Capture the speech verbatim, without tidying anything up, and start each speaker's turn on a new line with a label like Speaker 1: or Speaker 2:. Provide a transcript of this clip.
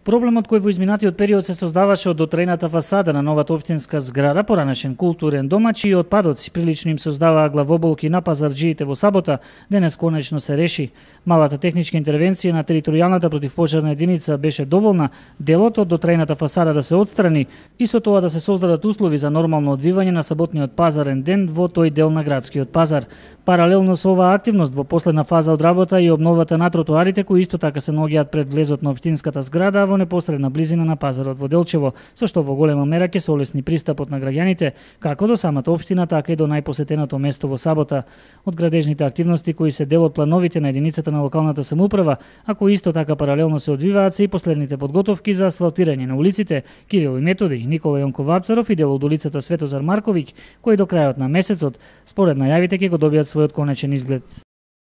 Speaker 1: Проблемот кој во изминатиот период се создаваше од дотрената фасада на новата општинска зграда, поранешен културен домаќ и отпадоци, прилично им создаваа главоболки на пазарџиите во Сабота, денес конечно се реши. Малата техничка интервенција на територијалната противпожарна единица беше доволна делот од дотрената фасада да се отстрани и со тоа да се создадат услови за нормално одвивање на саботниот пазарен ден во тој дел на градскиот пазар. Паралелно со оваа активност во последна фаза од работа и обновата на тротоарите кои исто така се наоѓаат пред влезот на општинската зграда во непосредна близина на пазарот во Делчево, со што во голема мера ќе се олесни пристапот на граѓаните како до самата општина, така и до најпосетеното место во Сабота. Од градежните активности кои се дел од плановите на единицата на локалната самоуправа, а кои исто така паралелно се одвиваат се и последните подготовки за асфалтирање на улиците Кирил и Методи, Никола Јонков Вапцаров и дел од улицата Светозар Марковиќ, кои до крајот на месецот, според најавите, ќе го добијат својот конечен изглед.